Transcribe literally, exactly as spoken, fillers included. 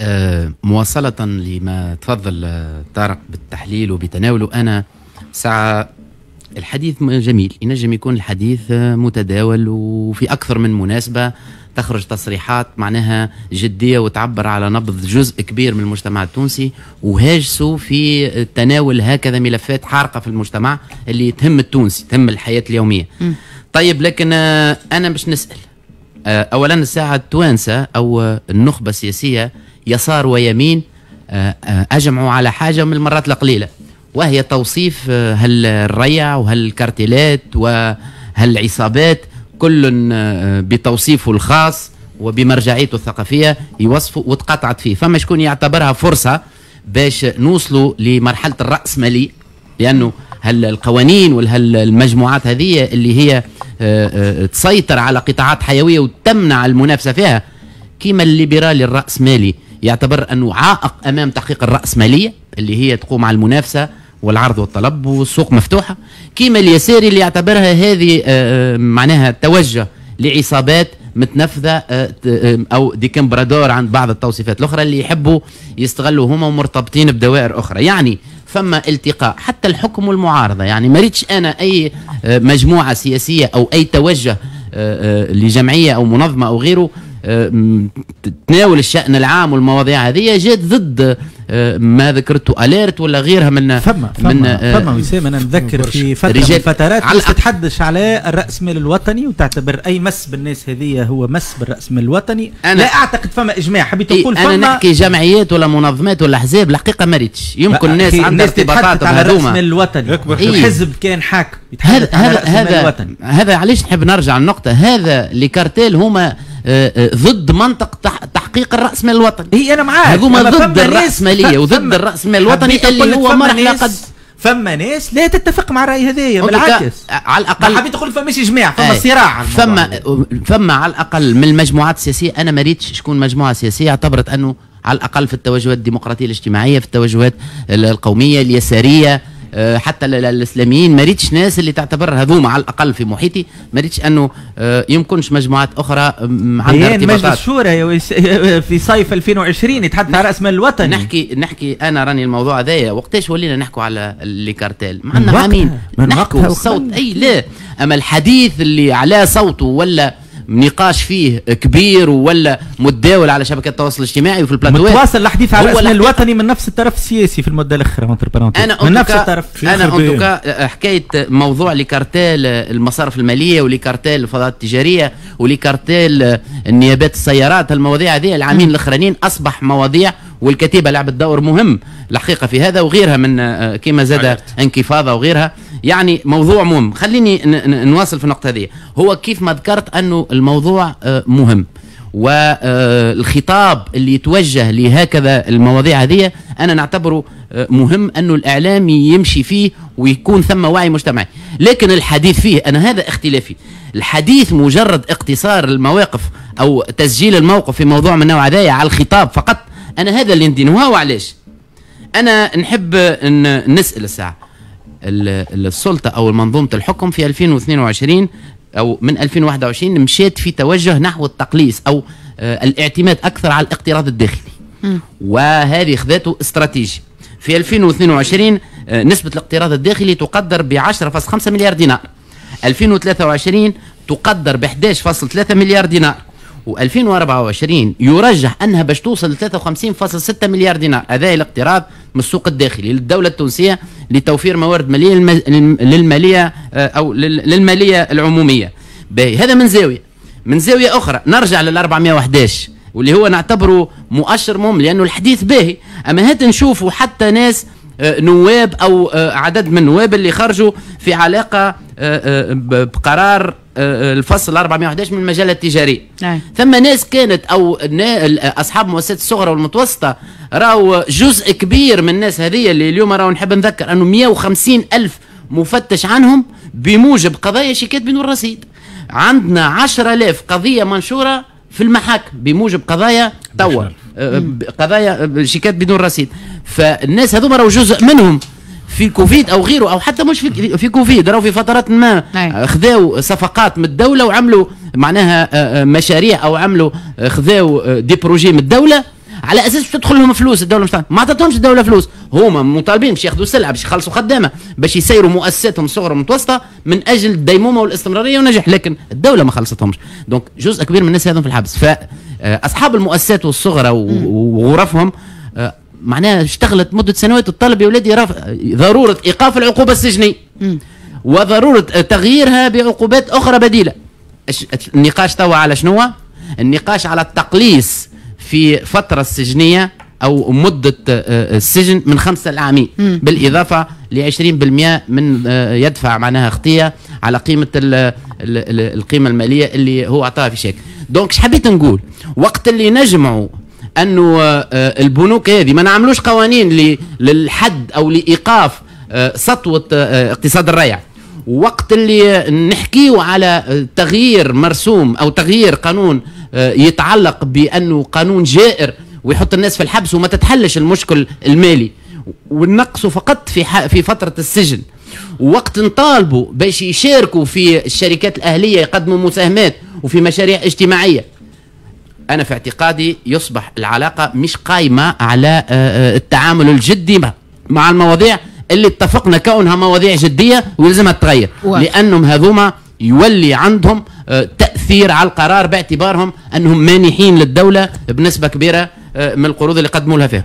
آه مواصلة لما تفضل طارق بالتحليل وبتناوله، أنا ساعة الحديث جميل، ينجم يكون الحديث متداول وفي أكثر من مناسبة تخرج تصريحات معناها جدية وتعبر على نبض جزء كبير من المجتمع التونسي وهاجسوا في تناول هكذا ملفات حارقة في المجتمع اللي تهم التونسي، تهم الحياة اليومية. م. طيب، لكن أنا باش نسأل أولا الساعة التوانسة أو النخبة السياسية يسار ويمين أجمعوا على حاجة من المرات القليلة، وهي توصيف هالريع وهالكارتيلات وهالعصابات، كل بتوصيفه الخاص وبمرجعيته الثقافية يوصفه وتقاطعت فيه. فما شكون يعتبرها فرصة باش نوصلوا لمرحلة الرأسمالية، لأنه هل القوانين وهالمجموعات هذه اللي هي تسيطر على قطاعات حيوية وتمنع المنافسة فيها، كما الليبرالي الرأسمالي يعتبر أنه عائق أمام تحقيق الرأسمالية اللي هي تقوم على المنافسة والعرض والطلب والسوق مفتوحة، كما اليساري اللي يعتبرها هذه معناها توجه لعصابات متنفذة أو des compradors عند بعض التوصيفات الأخرى اللي يحبوا يستغلوا هما ومرتبطين بدوائر أخرى. يعني فما التقاء حتى الحكم والمعارضة، يعني ما ريتش أنا أي مجموعة سياسية أو أي توجه لجمعية أو منظمة أو غيره تناول الشأن العام والمواضيع هذه جات ضد ما ذكرته Alerte ولا غيرها من فما فما من فما وسام. انا نذكر في فترة من الفترات تتحدث على الرأسمال الوطني وتعتبر اي مس بالناس هذه هو مس بالرأسمال الوطني. أنا لا اعتقد فما اجماع، حبيت نقول فما، انا نحكي جمعيات ولا منظمات ولا احزاب الحقيقة ما ريتش، يمكن الناس عندها ارتباطات على الرأسمال الوطني. الحزب كان حاكم هذا هذا هذا, هذا علاش نحب نرجع النقطة، هذا les cartels هما ضد منطق تحقيق الرأسمال الوطني. هي انا معاك، هذوما ضد الرأسمالية وضد الرأسمال الوطني اللي هو مرحلة قد فما ناس لا تتفق مع الرأي هذايا، بالعكس على الأقل حبيت تقول فماش إجماع، فما صراع، فما فما على الأقل من المجموعات السياسية. أنا ما ريتش شكون مجموعة سياسية اعتبرت أنه على الأقل في التوجهات الديمقراطية الاجتماعية، في التوجهات القومية اليسارية، حتى الاسلاميين، ما ريتش ناس اللي تعتبر هذوما على الاقل في محيطي، ما ريتش انه يمكنش مجموعات اخرى عندها ارتباطات. مجلس الشورى في صيف ألفين وعشرين يتحدث على راس مال الوطني. نحكي نحكي انا راني الموضوع هذايا وقتاش ولينا نحكوا على les cartels؟ معنا عامين نحكوا الصوت اي لا، اما الحديث اللي على صوته ولا نقاش فيه كبير ولا متداول على شبكات التواصل الاجتماعي وفي البلاتوات، متواصل الحديث على الرأس المال الوطني من نفس الطرف السياسي في المدة الاخرى. انا من نفس الطرف. انا en tout cas حكاية موضوع les cartels المصارف المالية و les cartels الفضاءات التجارية و les cartels النيابات السيارات، المواضيع هذه العامين الاخرانيين اصبح مواضيع، والكتيبه لعبت دور مهم الحقيقة في هذا وغيرها من كما زاد انكفاضه وغيرها. يعني موضوع مهم. خليني نواصل في النقطة هذه. هو كيف ما ذكرت أنه الموضوع مهم، والخطاب اللي يتوجه لهكذا المواضيع هذه أنا نعتبره مهم أنه الإعلام يمشي فيه ويكون ثم وعي مجتمعي، لكن الحديث فيه أنا هذا اختلافي. الحديث مجرد اقتصار المواقف أو تسجيل الموقف في موضوع من النوع هذايا على الخطاب فقط، أنا هذا اللي ندينه. وعلاش أنا نحب نسأل الساعة السلطة أو منظومة الحكم في ألفين واثنين وعشرين أو من ألفين وواحد وعشرين مشيت في توجه نحو التقليص أو الاعتماد أكثر على الاقتراض الداخلي، وهذه خذته استراتيجي. في ألفين واثنين وعشرين نسبة الاقتراض الداخلي تقدر ب عشرة فاصلة خمسة مليار دينار، ألفين وثلاثة وعشرين تقدر ب أحد عشر فاصلة ثلاثة مليار دينار، وألفين وأربعة وعشرين يرجح أنها باش توصل ل ثلاثة وخمسين فاصلة ستة مليار دينار. هذا الاقتراض من السوق الداخلي للدولة التونسية لتوفير موارد مالية للمالية أو للمالية العمومية. باهي، هذا من زاوية. من زاوية أخرى نرجع لل أربعمائة وأحد عشر واللي هو نعتبره مؤشر مهم لأنه الحديث باهي، أما هات نشوفوا حتى ناس نواب أو عدد من النواب اللي خرجوا في علاقة بقرار الفصل أربعمائة وأحد عشر من المجلة التجارية. أي. ثم ناس كانت او اصحاب مؤسسات الصغرى والمتوسطة، راهو جزء كبير من الناس هذه اللي اليوم راهو نحب نذكر انه مئة وخمسين الف مفتش عنهم بموجب قضايا شيكات بدون رصيد. عندنا عشرة آلاف قضية منشورة في المحاكم بموجب قضايا توا قضايا شيكات بدون رصيد. فالناس هذوما راهو جزء منهم في كوفيد او غيره، او حتى مش في في كوفيد، راهو في فترات ما خذاو صفقات من الدولة وعملوا معناها مشاريع او عملوا خذاو des projets من الدولة على اساس تدخل لهم فلوس الدولة، مش ما عطتهمش الدولة فلوس. هما مطالبين باش ياخذوا سلعه، باش يخلصوا خدامه، باش يسيروا مؤسساتهم الصغرى والمتوسطة من اجل الديمومه والاستمرارية والنجاح، لكن الدولة ما خلصتهمش. donc جزء كبير من الناس هذم في الحبس. فاصحاب المؤسسات والصغرى وغرفهم آه، معناها اشتغلت مده سنوات الطلب يا ولادي ضرورة ايقاف العقوبة السجنيه وضرورة تغييرها بعقوبات اخرى بديله. النقاش توا على شنو؟ النقاش على التقليص في فترة السجنيه او مده آه، السجن من خمسة لعامين، بالاضافة ل عشرين بالمية من آه، يدفع معناها خطيه على قيمة ال ال القيمة المالية اللي هو اعطاها في شيك. donc اش حبيت نقول؟ وقت اللي نجمعوا انه آه، البنوك هذه ما نعملوش قوانين للحد او لايقاف سطوة اقتصاد الريع، وقت اللي نحكيو على تغيير مرسوم او تغيير قانون يتعلق بانه قانون جائر ويحط الناس في الحبس وما تتحلش المشكل المالي، ونقصوا فقط في في فترة السجن، وقت نطالبوا باش يشاركوا في الشركات الاهلية يقدموا مساهمات وفي مشاريع اجتماعية، انا في اعتقادي يصبح العلاقة مش قايمة على آه، آه، التعامل الجدي مع المواضيع اللي اتفقنا كونها مواضيع جدية ويلزمها تتغير، لانهم هذوما يولي عندهم آه، تاثير على القرار باعتبارهم انهم مانحين للدولة بنسبة كبيرة من القروض اللي قدموا لها فيها.